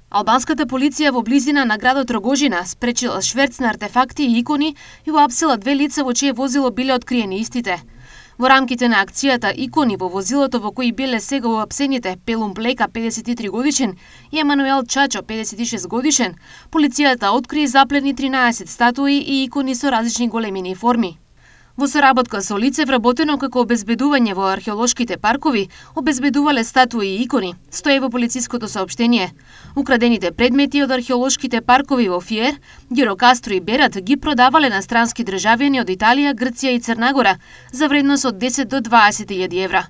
Албанската полиција во близина на градот Рогожина спречила шверц на артефакти и икони и уапсила 2 лица во чие возило биле откриени истите. Во рамките на акцијата икони во возилото во кои биле сега уапсените Пелум Блека 53 годишен и Емануел Чачо 56 годишен, полицијата откри и заплени 13 статуи и икони со различни големини и форми. Во соработка со лице вработено како обезбедување во археолошките паркови, обезбедувале статуи и икони, стои во полициското соопштение. Украдените предмети од археолошките паркови во Фиер, Гирокастро и Берат ги продавале на странски државјани од Италија, Грција и Црна Гора за вредност од 10 до 20.000 евра.